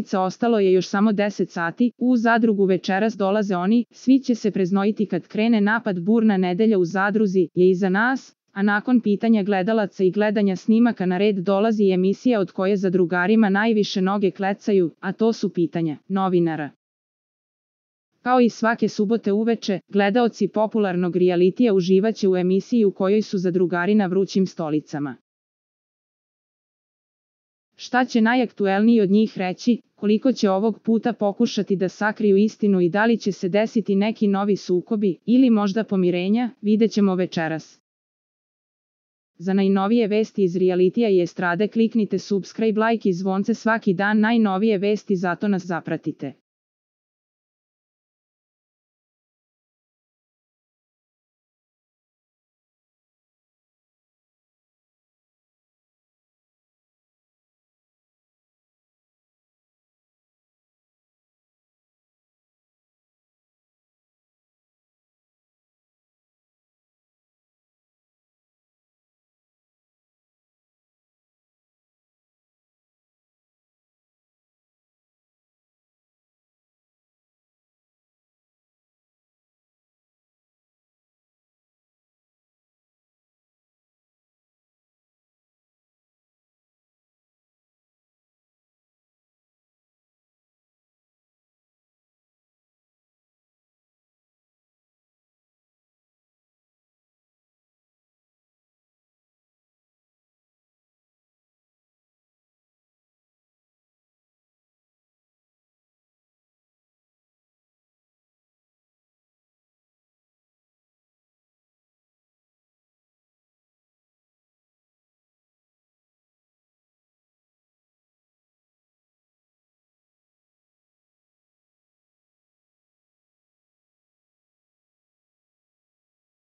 utakmica ostalo je još samo 10 sati, u Zadrugu večeras dolaze oni, svi će se preznojiti kad krene napad. Burna nedelja u Zadruzi je iza nas, a nakon pitanja gledalaca i gledanja snimaka na red dolazi i emisija od koje zadrugarima najviše noge klecaju, a to su pitanja novinara. Kao i svake subote uveče, gledaoci popularnog realitija uživaće u emisiji u kojoj su zadrugari na vrućim stolicama. Šta će najaktuelniji od njih reći, koliko će ovog puta pokušati da sakriju istinu i da li će se desiti neki novi sukobi, ili možda pomirenja, vidjet ćemo večeras. Za najnovije vesti iz realitija i estrade kliknite subscribe, like i zvonce svaki dan. Najnovije vesti, zato nas zapratite.